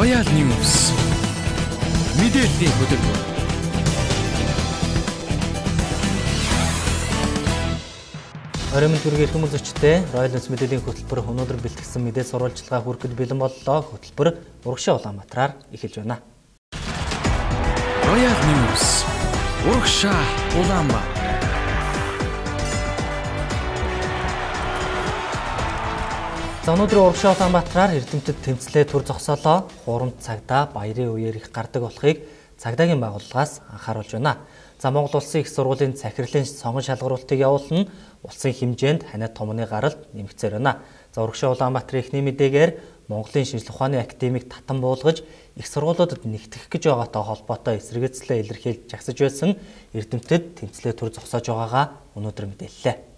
Royal News мэдээллийн хөтөлбөр. Оройн төргийн хүмүүс зочдтой Royal News мэдээллийн хөтөлбөр өнөөдөр бэлтгэсэн мэдээ сурвалжлагаа хүрэхэд бэлэн боллоо. Хөтөлбөр Урагшаа Улаанбаатараар эхэлж байна. Royal News Урагшаа Улаанбаатар. За өнөөдөр Урагшаа Улаанбаатараар эрдэмтэд тэмцлээ төр зогсоолоо. Хурамд цагдаа баярын үеэр их гардаг болохыг цагдаагийн байгууллагаас анхааруулж байна. За Монгол Улсын их сургуулийн захирлын сонгон шалгаруултыг явуулна. Улсын хэмжээнд ханиад томны гаралд нэмэгцээр байна. За Урагшаа Улаанбаатарын эхний мэдээгээр Монголын шинжлэх ухааны академик татан буулгаж их сургуулиудад нэгтгэх гэж байгаатай холбоотой эсэргээрцлээ илэрхийлж жагсаж байсан эрдэмтэд тэмцлээ төр зогсоож байгаагаа өнөөдөр мэдээллээ.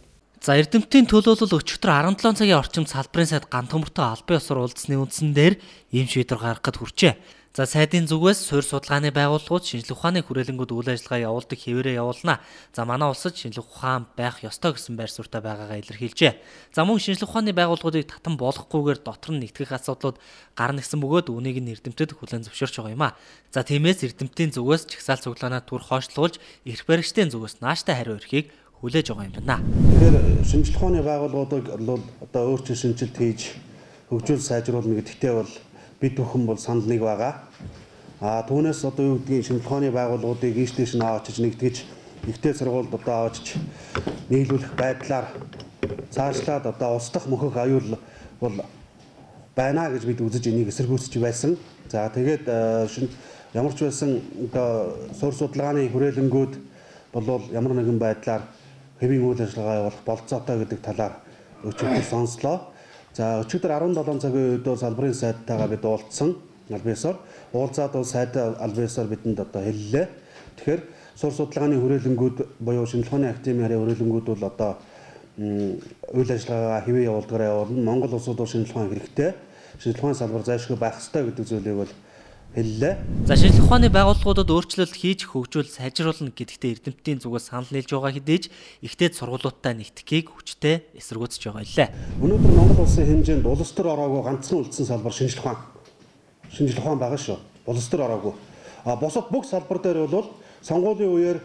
За эрдэмтдийн төлөөлөл өчигдөр 17 цагийн орчимд салбарын сайд ганц төмөртэй албан ёсоор уулзсны үндсэн дээр ийм шийдвэр гаргахад хүрчээ. За сайдын зүгээс суурь судалгааны байгууллагууд шинжлэх ухааны хүрээлэнгүүд үйл ажиллагаа явуулдаг хэвээрээ явуулна. За манай улсад шинжлэх ухаан байх ёстой гэсэн байр суурьтай байгаагаа илэрхийлжээ. За мөн шинжлэх ухааны байгууллагуудыг татан болгохгүйгээр дотор нь нэгтгэх асуудлууд гарна гэсэн бөгөөд үүнийг нь эрдэмтэд хүлээн зөвшөөрч байгаа юм а. За тиймээс эрдэмтдийн зүгээс чагсаал цуглаанаа түр хойшлуулж эрх баригчдын зүгээс нааштай хариу өрхийг хүлээж байгаа юм байна. Тэгэхээр шинжлэх ухааны байгууллагуудыг одоо өөрчлөлт шинжилт хийж хөгжүүл сайжруулна гэдэгтээ бол бид бүхэн бол санал нэг байгаа. Түүнээс одоо юу гэдгийг шинжлэх ухааны байгууллагуудыг ийш нь аваачиж нэгтгэж ихтэй сургуульд одоо аваачиж нийлүүлэх байдлаар цаашлаад одоо улс дахь мөхөх аюул бол байна гэж бид үзэж энийг эсэргүүцэж байсан. За тэгээд ямар ч байсан одоо суурь судалгааны хүрээлэнгүүд бол ямар нэгэн байдлаар хэвийн үйл ажиллагаа явуулах болцоотой гэдэг талаар өчигдөр сонслоо. За өчигдөр 17 цагийн үед салбарын сайдтайгаа бид уулзсан албан ёсоор уулзаад сайд албан ёсоор бидэнд одоо хэллээ. Тэгэхээр суурь судалгааны хүрээлэнгүүд буюу шинжлэх ухааны академийн хүрээлэнгүүд бол одоо үйл ажиллагаагаа хэвээ явуулдагаараа явуулна. Монгол улсууд бол шинжлэх ухаан хэрэгтэй. Шинжлэх ухааны салбар зайлшгүй байх ёстой гэдэг зүйлийг бол хэллээ. За шинжлэх ухааны байгууллагуудад өөрчлөлт хийж хөгжүүл сайжруулна гэдэгтээ эрдэмтдийн зүгээс санал нийлж байгаа хэдий ч ихтэй сургуулиудтай нэгтгэхийг хүчтэй эсэргүүцэж байгаа илээ. Өнөөдөр Монгол улсын хэмжээнд улс төр ороогүй ганцхан үлдсэн салбар шинжлэх ухаан. Шинжлэх ухаан байгаа шүү. Улс төр ороогүй. Бусад бүх салбар дээр бол сонгуулийн үеэр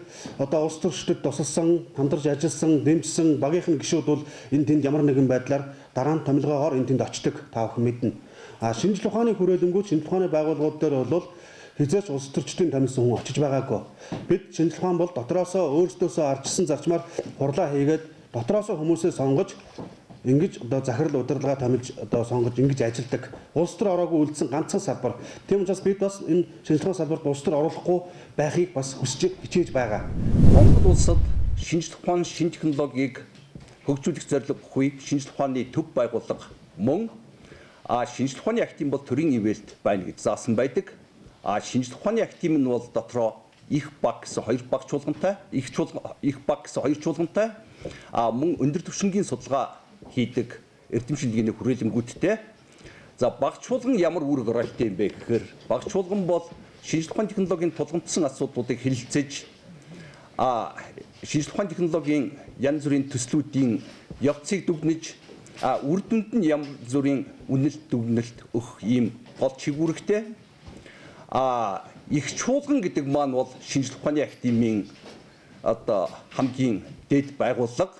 одоо улс төрчдөд тусалсан, хамтарч ажилласан, дэмжсэн багийнхан гишүүд бол энэ тэнд ямар нэгэн байдлаар дараа нь томилгоогоор энэ тэнд очдог та бүхэн мэднэ. Шинжлэх ухааны хүрээлэнгүүд шинжлэх ухааны байгууллагууд дээр бол хязгаарч улс төрчдийн томилсон хүн очиж байгаагүй. Бид шинжлэх ухаан бол дотроосоо өөрсдөөсөө арчсан зарчмаар хурлаа хийгээд дотроосоо хүмүүсээ сонгож ингэж одоо захирал удирдлага томилж одоо сонгож ингэж ажилладаг. Улс төр ороогүй үлдсэн ганцхан салбар. Тийм учраас бид бас энэ шинжлэх ухааны салбарт улс төр оруулахгүй байхыг бас хүсэж хичээж байгаа. Монгол улсад шинжлэх ухааны шинж технологиг хөгжүүлэх зорилго бүхий шинжлэх ухааны төв байгууллага мөн шинжлэх ухааны академи бол төрийн ивэлд байна гэж заасан байдаг. Шинжлэх ухааны академи нь бол дотроо их баг гэсэн хоёр баг чуулгантай, их баг гэсэн хоёр чуулгантай, мөн өндөр түвшингийн судалгаа хийдэг эрдэмшилгээний хүрээлэнгүүдтэй. За баг чуулган ямар үр гаралтай юм бэ гэхээр баг чуулган бол шинжлэх ухааны технологийн тулгамдсан асуудлуудыг хэлэлцэж шинжлэх ухааны технологийн янз бүрийн төслүүдийн явцыг дүгнэж үр дүнд нь янз бүрийн үнэлт дүгнэлт өгөх ийм гол чигүүрэгтэй. Их чуулган гэдэг маань бол шинжлэх ухааны академийн одоо хамгийн дэд байгууллага.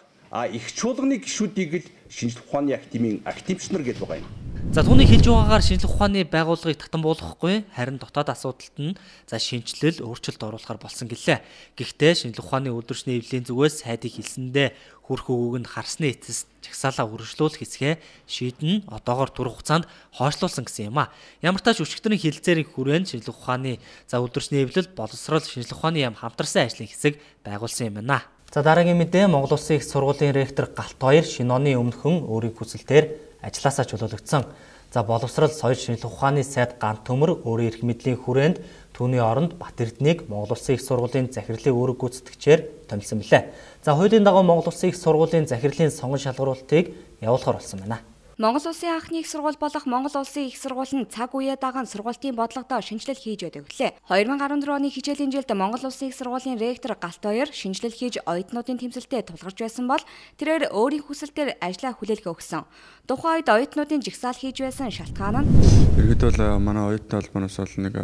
Их чуулганы гишүүдийг л шинжлэх ухааны академийн академич нар гэдэг байгаа юм. За түүний хэлж байгаагаар шинжлэх ухааны байгууллагыг татан буулгахгүй харин дотоод асуудалд нь шинжилэл өөрчлөлт оруулахар болсон гэлээ. Гэхдээ шинжлэх ухааны үйлдвэрчний эвлэлийн зүгээс сайдыг хэлсэндээ хүрх өгөөг нь харсны эцэст чагсаалаа үргэлжлүүлэх хэсгээ шийдэн одоогоор тур хугацаанд хойшлуулсан гэсэн юм а. Ямар ч тач өчигдрийн хэлэлцээрийн хүрээнд шинжлэх ухааны үйлдвэрчний эвлэл боловсрол шинжлэх ухааны яам хамтарсан ажлын хэсэг байгуулсан юм байна. За дараагийн мэдээ Монгол Улсын их сургуулийн ректор Галт хоёр шинэ оны өмнөхөн өөрийн хүсэлтээр ажилласаа чөлөөлөгдсөн. За боловсрол соёл шинжлэх ухааны сайд ганц төмөр өөрийн эрх мэдлийн хүрээнд түүний оронд Бат Эрдэнэийг Монгол Улсын их сургуулийн захирлын үүрэг гүйцэтгэгчээр томилсон билээ. За хуулийн дагуу Монгол Улсын их сургуулийн захирлын сонгон шалгаруулалтыг явуулахар болсон байна. Монгол Улсын анхны их сургууль болох Монгол Улсын их сургууль нь цаг үеэ даган сургуулийн бодлогодоо шинжилэл хийж байдаг гэлээ. 2014 оны хичээлийн жилд Монгол Улсын их сургуулийн ректор Галтбаяр шинжилэл хийж оюутнуудын тэмцэлтэд тулгарч байсан бол тэрээр өөрийн хүсэлтээр ажлаа хүлээлгээ өгсөн. Тухайн үед оюутнуудын жигсаал хийж байсан шалтгаан нь иргэд бол манай оюутны холбооноос бол нэг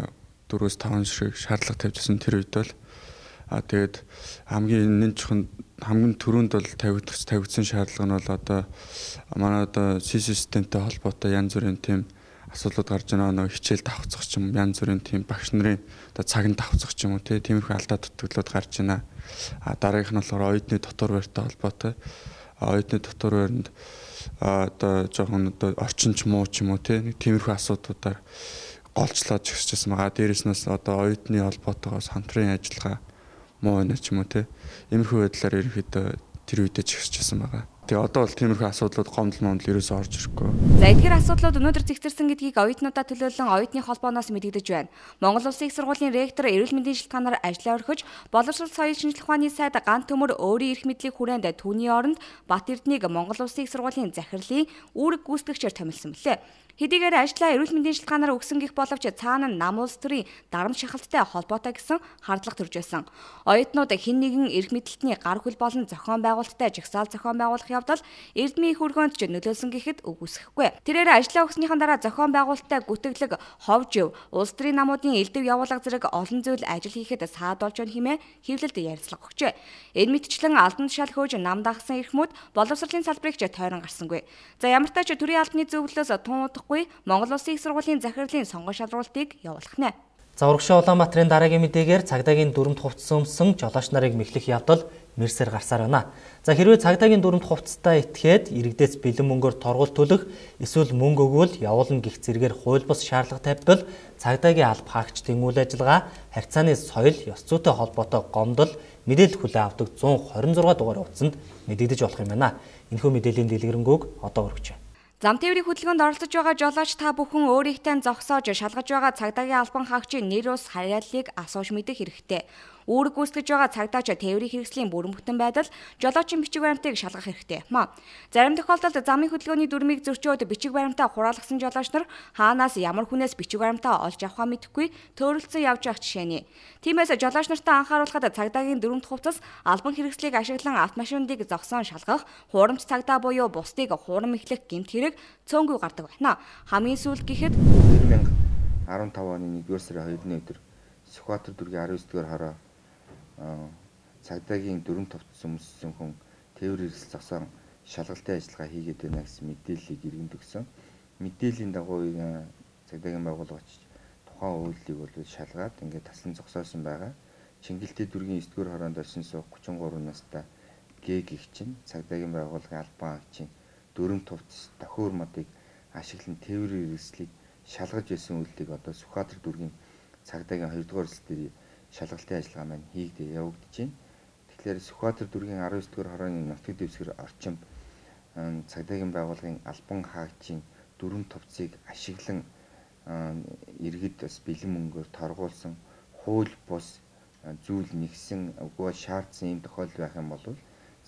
4-5 шиг шаардлага тавьжсэн тэр үед бол тэгээд хамгийн түрүүнд бол тавигдсан шаардлага нь бол одоо манай одоо системтэй холбоотой янз бүрийн тийм асуудлууд гарч байгаа нэг хичээл давхцах ч юм янз бүрийн тийм багш нарын одоо цагт давхцах ч юм уу тиймэрхүү алдаа дутагдлууд гарч байна. Дараагийнх нь болохоор оюутны дотор байртай холбоотой. Оюутны дотор байранд одоо жоохон одоо орчинч муу ч юм уу тиймэрхүү асуудлуудаар голчлоод жигсчихсэн байгаа. Дээрээс нь одоо оюутны холбоотойгоо хамтран ажиллагаа муу байна ч юм уу иймэрхүү байдлаар ерөнхийдөө тэр үедээ жигсчихсэн байгаа. Тэгээ одоо бол тиймэрхүү асуудлууд гомдол ерөөсөө орж ирэхгүй. За эдгээр асуудлууд өнөөдөр зэгцэрсэн гэдгийг оюутнуудаа төлөөлөн оюутны холбооноос мэдэгдэж байна. Монгол Улсын их сургуулийн ректор эрүүл мэндийн шалтгаанаар ажиллаа орхиж, боловсрол соёл шинжилх ухааны сайд Ган Төмөр өөрийн эрх мэдлийг хүрээнд түүний оронд Бат Эрдэнэийг Монгол Улсын их сургуулийн захирлын үүрэг гүйцэтгэгчээр томилсон билээ. Хэдийгээр ажлаа эрүүл мэндийн шалтгаанаар өгсөн гэх боловч цаана нам улс төрийн дарамт шахалттай холбоотой гэсэн хардлага төрж байсан. Оюутнууд хэн нэгэн эрх мэдлэлтний гар хөл болон зохион байгуулалттай жагсаал зохион байгуулах явдал эрдмийн хөргөөнд ч нөлөөлсөн гэхэд үгүйсэхгүй. Тэрээр ажлаа өгснийхэн дараа зохион байгуулалттай гүтгэлэг, ховжив, улс төрийн намуудын элдэв явуулга зэрэг олон зүйл ажил хийхэд саадуулж байна хэмээн хэвлэлд ярилцлага өгчээ. Энэ мэтчлэн албан тушаал хөөж нам дагсан эрхмүүд боловсролын салбарыг ч тойрон гарсангүй. За ямар ч тач төрийн албаны зөвлөлөөс тун Монгол Улсын их сургуулийн захирлын сонгон шалралтыг явуулах нэ. За урагшаа Улаанбаатарын дараагийн мэдээгээр цагдаагийн дүрмд хувцсан өмсөн жолооч нарыг мэхлэх явдал мэрсээр гарсаар байна. За хэрвээ цагдаагийн дүрмд хувцастай итгээд иргэдээс бэлэн мөнгөөр торгууль төлөх эсвэл мөнгө өгвөл явуулна гэх зэрэгээр хууль бус шаардлага тавьбал цагдаагийн алба хаагчдын үйл ажиллагаа харьцааны соёл ёс зүйтэй холбоотой гомдол мэдээлэл хүлээн авдаг 126 дугаар утсанд мэдэгдэж болох юм байна. Энэхүү мэдээллийн дэлгэрэнгүй одоо өргөж байна. Зам тээврийн хөдөлгөөнд оролцож байгаа жолооч та бүхэн өөрийнхөө зогсоож шалгаж байгаа цагдаагийн албан хаагчийн нэр ус хариаллыг асууж мэдэх хэрэгтэй. Үүрэг гүйцэтгэж байгаа цагдаач тээврийн хэрэгслийн бүрэн бүтэн байдал жолоочийн бичиг баримтыг шалгах хэрэгтэй юм а. Зарим тохиолдолд замын хөдөлгөөний дүрмийг зөрчөөд бичиг баримтаа хураалгасан жолооч нар хаанаас ямар хүнээс бичиг баримтаа олж авахаа мэдэхгүй төөрөлдсөн явж явах жишээний. Тиймээс жолооч нартаа анхааруулахад цагдаагийн дүрмд хувцас албан хэрэгслийг ашиглан автомашинуудыг зогсоон шалгах, хуурамч цагдаа буюу бусдыг хуурам эхлэх гэмт хэрэг цөөнгүй гардаг байна. Хамгийн сүүлд гэхэд 2015 оны 1-р сарын 2-ны өдөр Сүхбаатар дүргийн 19-р хороо цагдаагийн дүрм товцсон өмссөн хүн тээвэр хэрэгсэл зогсоон шалгалтын ажиллагаа хийгээд байна гэсэн мэдээллийг иргэнд өгсөн. Мэдээллийн дагуу цагдаагийн байгууллагч тухайн үйлдэлийг бол шалгаад ингээд таслан зогсоосон байгаа. Чингэлтэй дүргийн 9-р хороонд орсон суух 33 настай Г гэх чинь цагдаагийн байгууллагын албан хаагчийн дүрм товцос дохиур модыг ашиглан тээврийн хэрэгслийг шалгаж байсан үйлдэлийг одоо Сүхбаатар дүргийн цагдаагийн 2-р улс дээр шалгалтын ажиллагаа маань хийгдээ явагдаж байна. Тэгэхээр Сүхбаатар дүргийн 19-р хорооны нутаг дэвсгэр орчим цагдаагийн байгууллагын албан хаагчийн дүрм товцыг ашиглан иргэд бас бэлэн мөнгөөр торгуулсан хууль бус зүйл нэгсэн үгүй шаардсан юм тохиолдол байх юм бол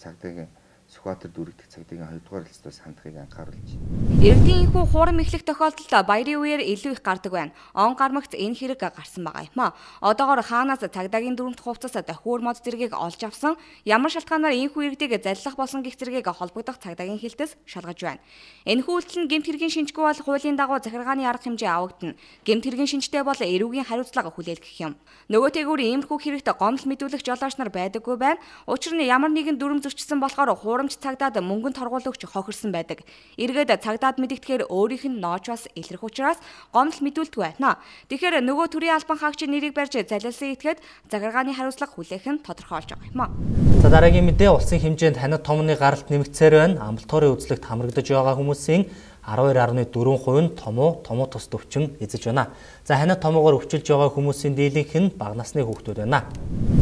цагдаагийн Сүхбаатар дүрэгдэх цагдаагийн 2-р улсаас хандахыг анхааруулж байна. Иргэдийн энэхүү хуурам эхлэх тохиолдолд баярын үеэр илүү их гардаг байна. Он гармагт энэ хэрэг гарсан байгаа юм а. Одоогоор хаанаас цагдаагийн дүрмд хувцас дохиур мод зэргийг олж авсан, ямар шалтгаанаар энэхүү иргэдийг заллах болсон гэх зэргийг холбогдох цагдаагийн хэлтээс шалгаж байна. Энэхүү үйлдэл нь гэмт хэргийн шинжгүй бол хуулийн дагуу захиргааны арга хэмжээ авагдана. Гэмт хэргийн шинжтэй бол эрүүгийн хариуцлага хүлээлгэх юм. Нөгөөтэйгүр иймэрхүү хэрэгт гомдол мэдүүлэх жолооч нар байдаггүй байна. Учир нь ямар нэгэн дүрм зөрчсөн болохоор хуурамч цагдаад мөнгөнд торгуулагч хохирсон байдаг. Иргэд цагдаад мэдэгдэхээр өөрийнх нь нооч бас илрэх учраас гомдол мэдүүлдэг байна. Тэгэхээр нөгөө төрийн албан хаагчийн нэрийг барьж залилсан этгээд захиргааны хариуцлага хүлээх нь тодорхойлж байгаа юм а. За дараагийн мэдээ улсын хэмжээнд ханад томны гаралт нэмэгдсээр байна. Амбулаторийн үзлэгт хамрагдаж байгаа хүмүүсийн 12.4% нь томуу тус төвчин эзэж байна. За ханад томоогоор өвчилж байгаа хүмүүсийн дийлэнх нь бага насны хүүхдүүд байна.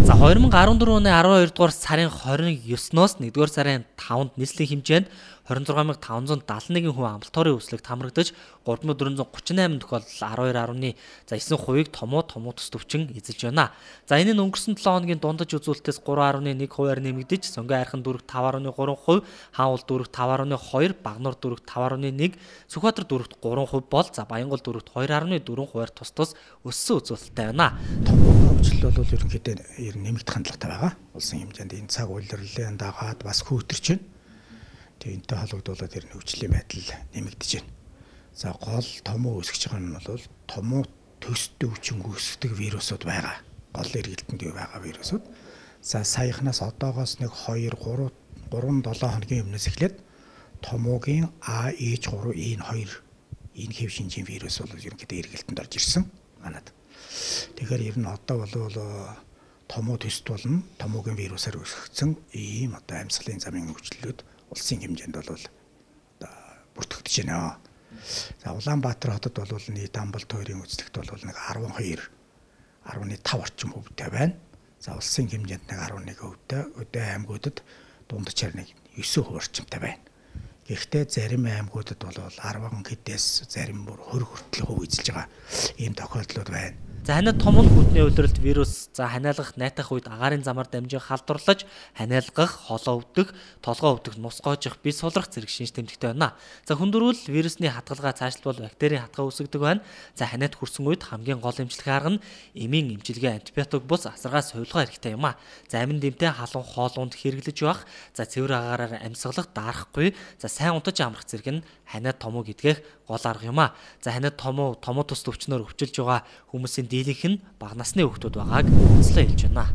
За 2014 оны 12 дугаар сарын 29-ноос 1 дугаар сарын 5-нд нийслэлийн хэмжээнд 26571 хүн амлалтын өслөгт хамрагдаж 3438 тохиолдол 12.9%-ийг томуу төс төвчин эзэлж байна. За энэ нь өнгөрсөн 7 хоногийн дундаж үзүүлэлтээс 3.1%-аар нэмэгдэж сонгон айрхан дүүрэг 5.3%, хаанул дүүрэг 5.2%, багнуур дүүрэг 5.1%, Сүхбаатар дүүрэгт 3% бол за Баянгол дүүрэгт 2.4%-аар тус өссөн үзүүлэлттэй байна. Хөгжил бол ерөнхийдөө нэмэгдэх хандлагатай байгаа. Улсын хэмжээнд энэ цаг улирлын дагаад бас хөөтөрч байна. Тэгээ энэтэй холбогдуулаад ер нь хөгжлийн байдал нэмэгдэж байна. За гол томуу өсгөж байгаа нь бол томуу төстэй хүчин үүсгдэг вирусууд байгаа. Гол эргэлтэнд байгаа вирусууд. За саяхнаас одоогоос нэг 2-3-7 хоногийн өмнөөс эхлээд томоогийн AH3N2 энэ хэв шинжийн вирус бол ерөнхийдөө эргэлтэнд орж ирсэн манад. Тэгэхээр ер нь одоо бол томоо төст болно. Томоогийн вирусаар өсгөгдсөн ийм одоо амьсгалын замын хөгжлөлүүд улсын хэмжээнд бол бүртгэгдэж байна. За Улаанбаатар хотод бол нийт амбалт хоёрын үзлэгт бол нэг 12.5 орчим хөвтэй байна. За улсын хэмжээнд нэг 11 хөвтэй, өдөө аймагуудад дундчаар нэг 9% орчимтай байна. Гэхдээ зарим аймагуудад бол 10 хэдээс зарим бүр 20 хүртэл хөв эзэлж байгаа ийм тохиолдлууд байна. За ханиад том хүйтний улиралд вирус за ханиалгах найтах үед агаарын замаар дамжин халдварлаж ханиалгах, холоо өвдөх, толгоо өвдөх, нус гоожих, бие сулрах зэрэг шинж тэмдэгтэй байна. За хүндэрвэл вирусны хадгалгаа цаашлбал бактерийн хадгалгаа үүсгдэг байна. За ханиад хүрсэн үед хамгийн гол эмчилгээ арга нь эмийн эмчилгээ антибиотик бус асаргаас хувилгаа хэрэгтэй юм а. За амин дэмтэй халуун хоолунд хэрэглэж явах, за цэвэр агаараар амьсгалах, даарахгүй, за сайн унтаж амрах зэрэг нь ханиад томуу гэдгэх гол арга юм а. За ханиад томуу тус төвчнөр өвчилж байгаа хүмүүсийн дийлэнх нь бага насны хүүхдүүд байгааг онцлог хэлж байна.